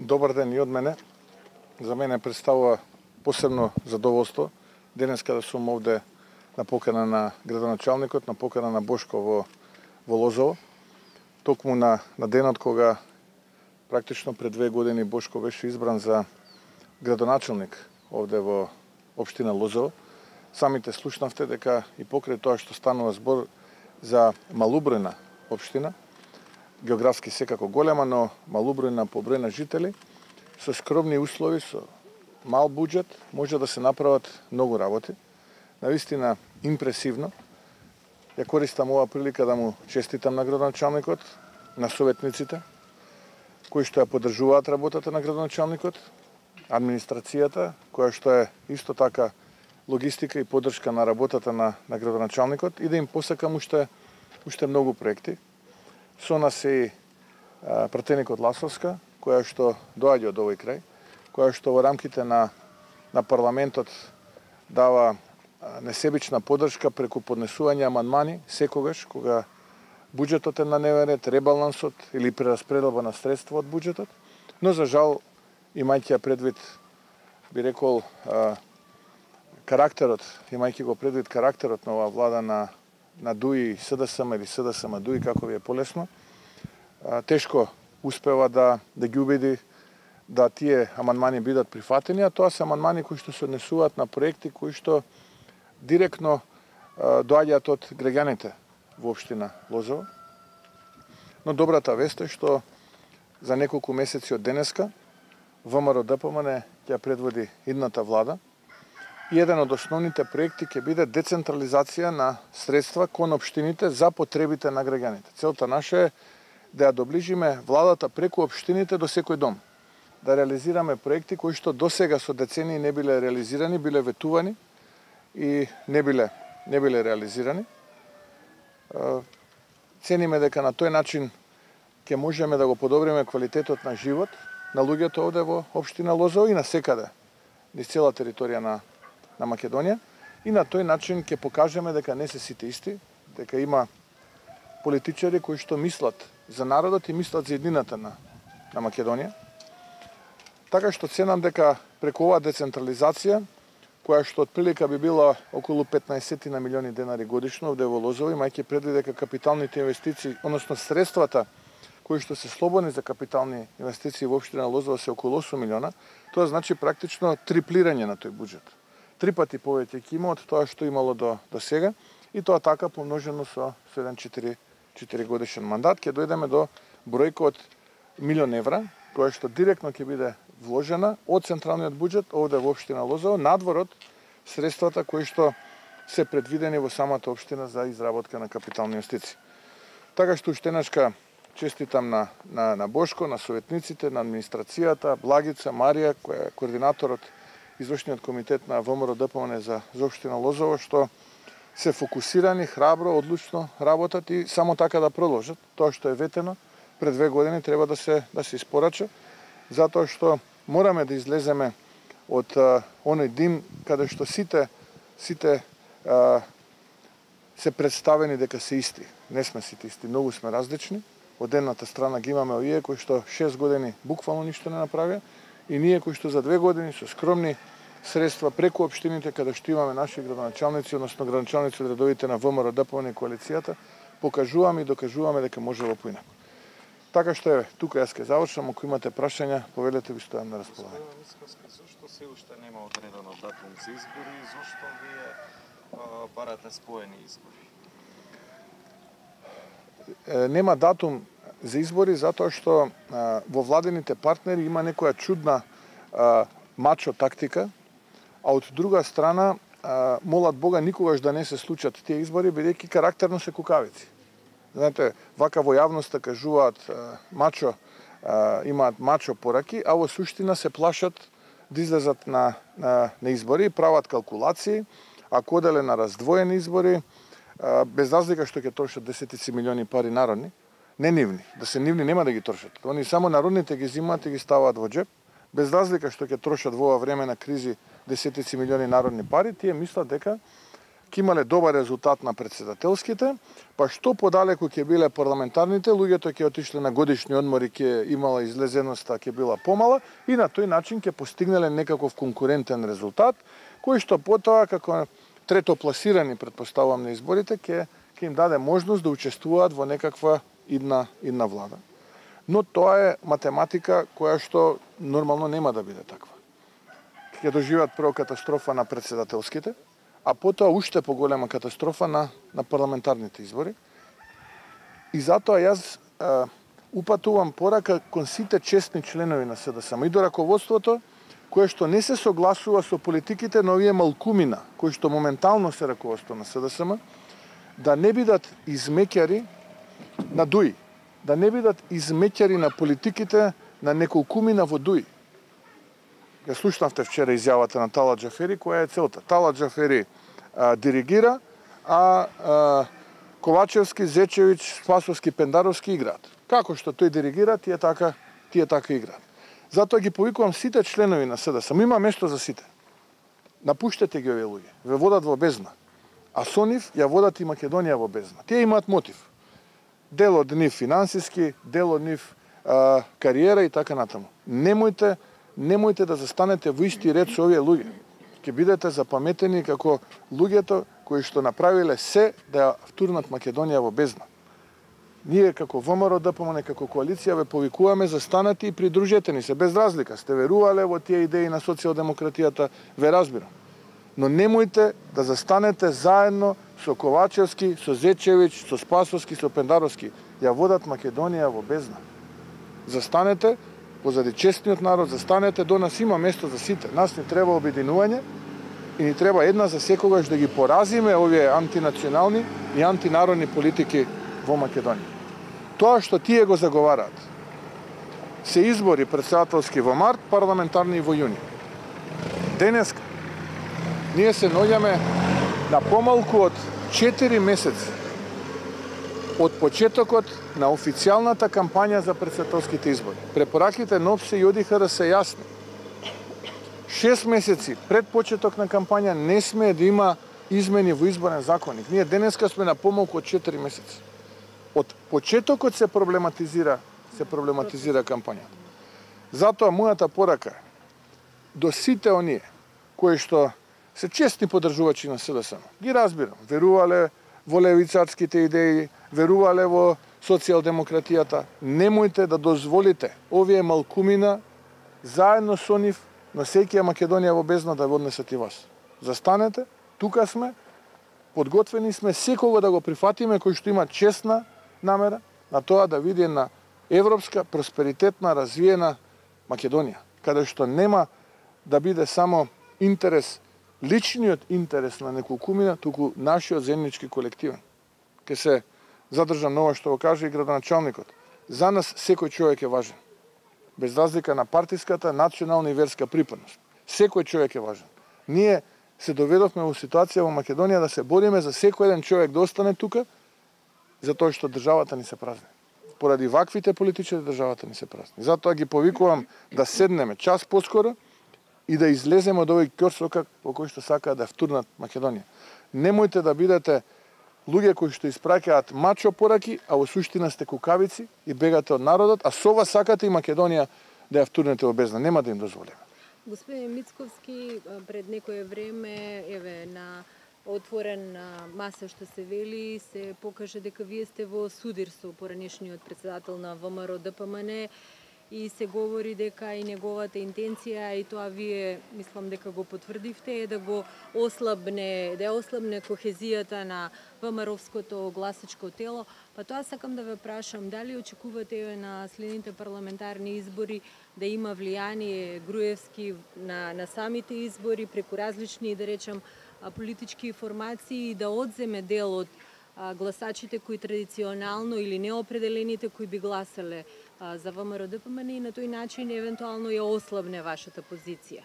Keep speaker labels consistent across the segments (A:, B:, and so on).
A: Добар ден и од мене. За мене представува посебно задоволство денес када сум овде на покана на градоначалникот, на покана на Бошко во Лозово. Токму на денот кога практично пред 2 години Бошко беше избран за градоначалник овде во општина Лозово. Самите слушнавте дека и покрај тоа што станува збор за малубројна општина, географски секако голема, но малубројна по број на жители, со скромни услови, со мал буџет, може да се направат многу работи. Навистина импресивно. Ја користам оваа прилика да му честитам на градоначалникот, на советниците, кои што ја поддржуваат работата на градоначалникот, администрацијата, која што е исто така логистика и поддршка на работата на градоначалникот, и да им посакам уште многу проекти. Со нас е и пратеникот Ласовска, која што доаѓа од овој крај, која што во рамките на парламентот дава несебична поддршка преку поднесување амандмани секогаш кога буџетот е на дневен ред, ребалансот или прераспределба на средства од буџетот, но за жал, имајќи предвид, би рекол, имајќи го предвид карактерот на оваа влада на ДУИ СДСМ или СДСМ ДУИ, како ви е полесно, тешко успева да ги убеди да тие амандмани бидат прифатени, а тоа се амандмани кои што се однесуваат на проекти кои што директно доаѓаат од граѓаните во општина Лозово. Но добрата вест е што за неколку месеци од денеска ВМРО ДПМН ќе предводи идната влада и еден од основните проекти ќе биде децентрализација на средства кон општините за потребите на граѓаните. Целта наша е да ја доближиме владата преку општините до секој дом. Да реализираме проекти кои што досега со децении не биле реализирани, биле ветувани и не биле реализирани. Цениме дека на тој начин ќе можеме да го подобриме квалитетот на живот на луѓето овде во општина Лозово и на секаде низ цела територија на Македонија, и на тој начин ќе покажеме дека не се сите исти, дека има политичари кои што мислат за народот и мислат за еднината на Македонија. Така што ценам дека преку оваа децентрализација, која што отприлика би била околу 15 на милиони денари годишно овде во Лозово, имајќи предвид дека капиталните инвестиции, односно средствата кои што се слободни за капитални инвестиции во општина Лозово се околу 8 милиона, тоа значи практично триплирање на тој буџет. 3 пати повеќе ќе има од тоа што имало до сега, и тоа така помножено со еден 4 годишен мандат, ќе дојдеме до бројка од милион евра, која што директно ќе биде вложена од централниот буџет овде во општина Лозово, надвор од средствата кои што се предвидени во самата општина за изработка на капитални инвестиции. Така што уште еднашка честитам на Бошко, на советниците, на администрацијата, Благица, Марија, која е координаторот извршниот комитет на ВМРО ДПМН за општина Лозово, што се фокусирани, храбро, одлучно работат и само така да продолжат. Тоа што е ветено пред 2 години треба да се испорача, затоа што мораме да излеземе од оној дим каде што сите се представени дека се исти. Не сме сите исти, многу сме различни. Од едната страна ги имаме овие кои што 6 години буквално ништо не направија и ние кои што за 2 години со скромни средства преку општините каде што имаме наши градоначалници, односно градоначалници од редовите на ВМРО ДПМН и коалицијата, покажуваме и докажуваме дека можело поинаку. Така што еве, тука јас ќе завршам, ако имате прашања, повелете, ви стојам на располагање.
B: Зошто се уште нема одреден датум за избори и зошто вие барате споени избори?
A: Нема датум за избори затоа што во владените партнери има некоја чудна мачо тактика, а од друга страна молат Бога никогаш да не се случат тие избори, бидејќи карактерно се кукавици. Знаете, вака во јавноста кажуваат мачо, имаат мачо пораки, а во суштина се плашат да излезат на избори, прават калкулации, ако оделе на раздвоени избори, без разлика што ќе трошат десетици милиони пари народни, не нивни, да се нивни нема да ги трошат. Они само народните ги зимаат и ги ставаат во џеб, без разлика што ќе трошат во ова време на кризи десетици милиони народни пари, тие мислат дека ќе имале добар резултат на председателските, па што подалеку ќе биле парламентарните, луѓето ќе отишле на годишни одмори, ќе имала излезеноста, ќе била помала и на тој начин ќе постигнале некаков конкурентен резултат, кој што потоа како трето пласирани, предпоставувам, на изборите, ќе им даде можност да учествуваат во некаква идна влада. Но тоа е математика која што нормално нема да биде таква. Ќе доживеат прво катастрофа на председателските, а потоа уште поголема катастрофа на парламентарните избори. И затоа јас упатувам порака кон сите честни членови на СДСМ и до раководството, кое што не се согласува со политиките на овие малкумина, кои што моментално се раководство на СДСМ, да не бидат измеќари на ДУИ, да не бидат измеќари на политиките на неколкумина во ДУИ. Ја слушнавте вчера изјавата на Талат Џафери, која е целта. Талат Џафери диригира, а Ковачевски, Зечевич, Спасовски, Пендаровски играат. Како што тој диригира, тие така играат. Затоа ги повикувам сите членови на СДСМ. Има место за сите. Напуштете ги овие луѓе. Ве водат во бездна. А со нив ја водат и Македонија во бездна. Тие имаат мотив. Дел од нив финансиски, дел од нив кариера и така натаму. Немојте да застанете во исти ред со овие луѓе. Ќе бидете запаметени како луѓето кои што направиле се да ја втурнат Македонија во бездна. Ние како ВМРО ДПМН, како коалиција ве повикуваме, застанете и придружете ни се без разлика. Сте верувале во тие идеи на социјалдемократијата, ве разбирам. Но немојте да застанете заедно со Ковачевски, со Зечевич, со Спасовски, со Пендаровски. Ја водат Македонија во бездна. Застанете позади честниот народ, застанете, до нас има место за сите. Нас ни треба обединување и ни треба една за секогаш да ги поразиме овие антинационални и антинародни политики во Македонија. Тоа што тие го заговараат се избори председателски во март, парламентарни во јуни. Денес ние се наоѓаме на помалку од 4 месеци од почетокот на официјалната кампања за председателските избори. Препораките на ОПСЕ и ОДИХР се јасни. 6 месеци пред почеток на кампања не сме да има измени во изборен законник. Ние денеска сме на помалку од 4 месеци. Од почетокот се проблематизира кампањата. Затоа мојата порака до сите оние кои што се честни поддржувачи на СДСМ, ги разбирам, верувале во левицарските идеи, верувале во социјалдемократијата, немојте да дозволите овие малкумина заедно со нив носејќи Македонија во бездна да однесат и вас. Застанете, тука сме, подготвени сме секого да го прифатиме кој што има честна намера на тоа да види на европска, просперитетна, развиена Македонија, каде што нема да биде само интерес, личниот интерес на неколкумина, туку нашиот заеднички колективен. Ке се задржам на ова што го каже и градоначалникот. За нас секој човек е важен. Без разлика на партиската, национална и верска припадност. Секој човек е важен. Ние се доведовме во ситуација во Македонија да се бориме за секој еден човек да остане тука, затоа што државата ни се празни. Поради ваквите политичари државата ни се празни. Затоа ги повикувам да седнеме час поскоро и да излеземе од овој ќорсокак во кој што сакаат да втурнат Македонија. Немојте да бидете луѓе кои што испраќаат мачо пораки, а во суштина сте кукавици и бегате од народот, а со ова сакате и Македонија да ја втурнете во бездна. Нема да им дозволиме.
C: Господин Мицковски, пред некое време, на отворена маса што се вели, се покаже дека вие сте во судир со поранешниот председател на ВМРО ДПМН и се говори дека и неговата интенција, и тоа вие мислам дека го потврдивте, е да го ослабне, да ослабне кохезијата на ВМРО-вското гласачко тело. Па тоа сакам да ве прашам, дали очекувате на следните парламентарни избори да има влијание Груевски на самите избори преку различни, да речам, политички формации и да одземе дел од гласачите кои традиционално или неопределените кои би гласале за ВМРО ДПМН и на тој начин евентуално ја ослабне вашата позиција?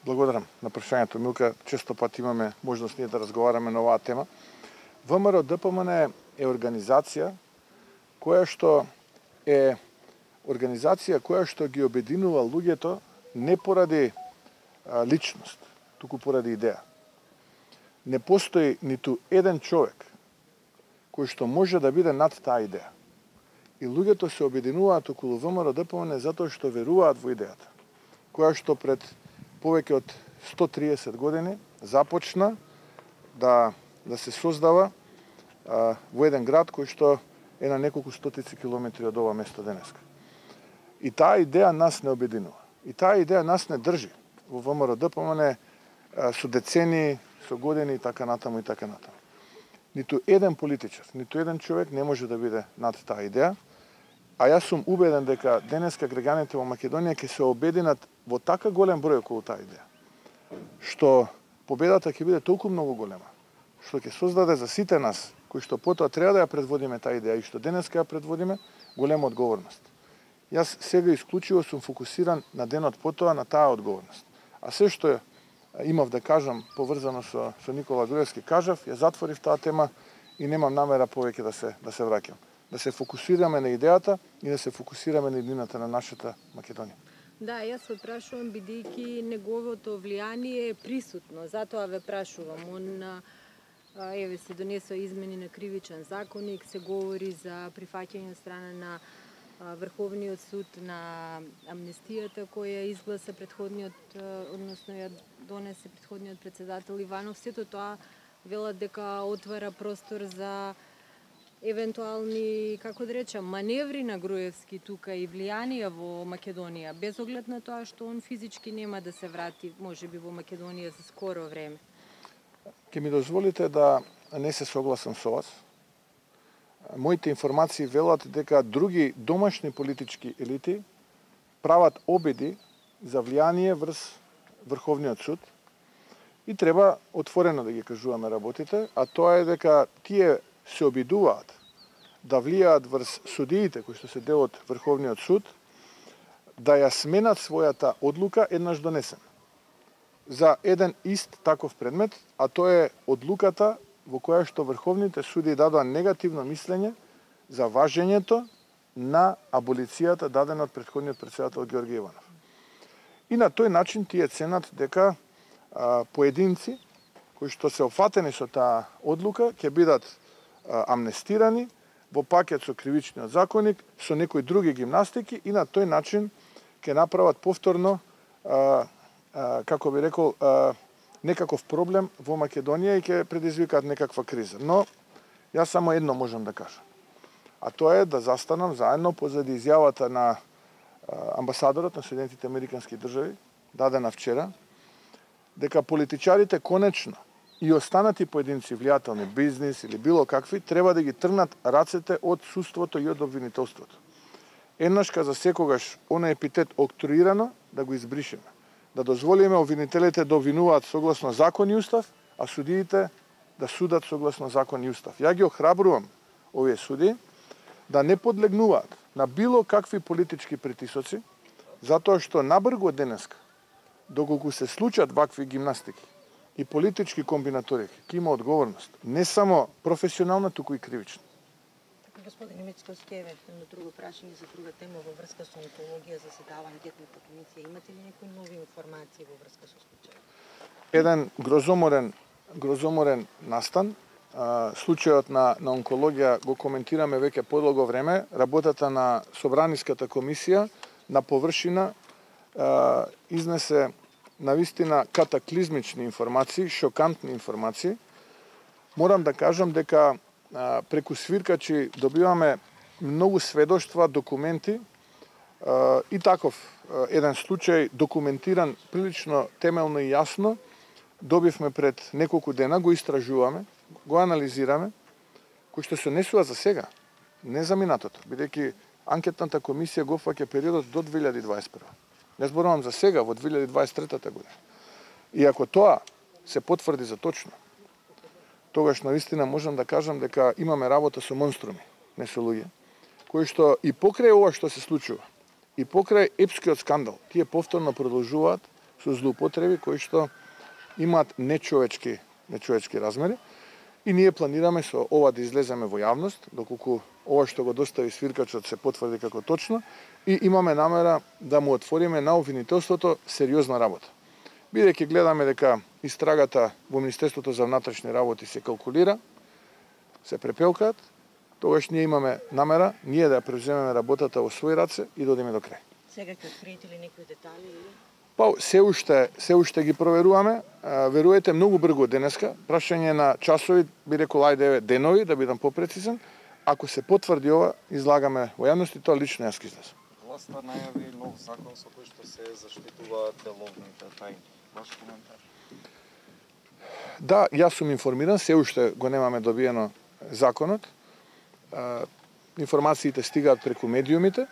A: Благодарам на прашањето, Милка. Често пат имаме можност ние да разговараме на оваа тема. ВМРО ДПМН е организација која што ги обединува луѓето не поради личност, туку поради идеја. не постои ниту еден човек кој што може да биде над таа идеја. И луѓето се обединуваат околу ВМРО-ДПМН затоа што веруваат во идејата, која што пред повеќе од 130 години започна да се создава во еден град кој што е на неколку стотици километри од ова место денеска. И таа идеја нас не обединува. И таа идеја нас не држи во ВМРО-ДПМН со децени, со години и така натаму и така натаму. Ниту еден политичар, ниту еден човек не може да биде над таа идеја, а јас сум убеден дека денеска граѓаните во Македонија ќе се обединат во така голем број околу таа идеја, што победата ќе биде толку многу голема, што ќе создаде за сите нас, кои што потоа треба да ја предводиме таа идеја и што денеска ја предводиме, голема одговорност. Јас сега исклучиво сум фокусиран на денот потоа на таа одговорност. А се што имав да кажам поврзано со Никола Груевски кажав, ја затворив таа тема и немам намера повеќе да се враќам. Да се фокусираме на идејата и да се фокусираме на иднината на нашата Македонија.
C: Да, јас ве прашувам бидејќи неговото влијание е присутно, затоа ве прашувам. Еве се донесува измени на кривичен законник, се говори за прифаќање од страна на Врховниот суд на амнестијата која изгласа предходниот, односно ја донесе предходниот председател Иванов. Сето тоа велат дека отвара простор за евентуални, како да речам, маневри на Груевски тука и влијанија во Македонија, без оглед на тоа што он физички нема да се врати, можеби во Македонија за скоро време.
A: Ке ми дозволите да не се согласам со вас. Моите информации велат дека други домашни политички елити прават обиди за влијание врз Врховниот суд и треба отворено да ги кажуваме работите, а тоа е дека тие се обидуваат да влијаат врз судиите кои што се дел од Врховниот суд, да ја сменат својата одлука еднаш донесена за еден ист таков предмет, а тоа е одлуката во која што врховните суди дадоа негативно мислење за важењето на аболицијата дадена од претходниот председател Ѓорѓе Иванов. И на тој начин тие ценат дека поединци кои што се офатени со таа одлука ќе бидат амнестирани во пакет со кривичниот законник, со некои други гимнастики и на тој начин ќе направат повторно, како би рекол, некаков проблем во Македонија и ќе предизвикаат некаква криза. Но јас само едно можам да кажам. А тоа е да застанам заедно позади изјавата на амбасадорот на Соединетите Американски држави, дадена вчера, дека политичарите конечно и останати поединци влијателни, бизнис или било какви, треба да ги тргнат рацете од судството и од обвинителството. Еднашка за секогаш оној епитет октруирано да го избришеме. Да дозволиме обвинителите да обвинуваат согласно закон и устав, а судиите да судат согласно закон и устав. Ја ги охрабрувам овие суди да не подлегнуваат на било какви политички притисоци, затоа што набрго денеска, доколку се случат вакви гимнастики и политички комбинаторики, ќе има одговорност, не само професионална, туку и кривична.
D: Господин Мицковски, евентуално друго прашање за друга тема во врска со онкологија, заседава анкетната комисија. Имате ли некои нови информации во врска со случајот?
A: Еден грозоморен настан. Случајот на онкологија го коментираме веќе подолго време. Работата на Собраниската комисија на површина изнесе навистина катаклизмични информации, шокантни информации. Морам да кажам дека преку свиркачи добиваме многу сведоштва, документи и таков еден случај документиран прилично темелно и јасно добивме пред неколку дена, го истражуваме, го анализираме, кој што се однесува за сега, не за минатото, бидејќи анкетната комисија го фаќа периодот до 2021. Не зборувам за сега, во 2023 година. И ако тоа се потврди за точно, тогаш навистина можам да кажам дека имаме работа со монструми, не со луѓе, кои што и покрај ова што се случува, и покрај епскиот скандал, тие повторно продолжуваат со злоупотреби кои што имаат нечовечки размери. И ние планираме со ова да излеземе во јавност, доколку ова што го достави свиркачот се потврди како точно, и имаме намера да му отвориме на обвинителството сериозна работа. Бидејќи гледаме дека истрагата во Министерството за внатрешни работи се калкулира, се препелкаат, тогаш ние имаме намера ние да ја превземеме работата во своји раце и да одиме до крај.
D: Сега ќе откриете ли некои детали или?
A: Па се уште ги проверуваме, веруете многу брзо денеска, прашање на часови, би рекол ајде денови да бидам попрецизен. Ако се потврди ова, излагаме во јавност и тоа лично јас ќе излезам.
B: Власта најави нов закон со кој што се заштитуваат деловните тајни. Ваш коментар?
A: Да, јас сум информиран, се уште го немаме добиено законот. Информациите стигаат преку медиумите.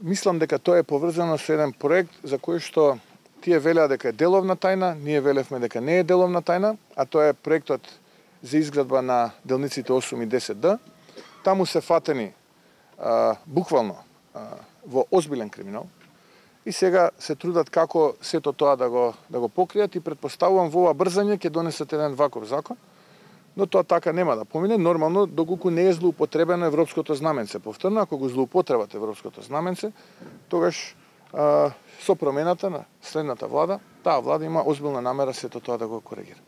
A: Мислам дека тоа е поврзано со еден проект за кој што тие велеа дека е деловна тајна, ние велевме дека не е деловна тајна, а тоа е проектот за изградба на делниците 8 и 10Д. Таму се фатени буквално во озбилен криминал и сега се трудат како сето тоа да го покријат и претпоставувам во ова брзање ќе донесат еден ваков закон, но тоа така нема да помине, нормално доколку не е злоупотребено европското знаменце. Повторно, ако го злоупотребат европското знаменце, тогаш со промената на следната влада, таа влада има озбилна намера сето тоа да го коригира.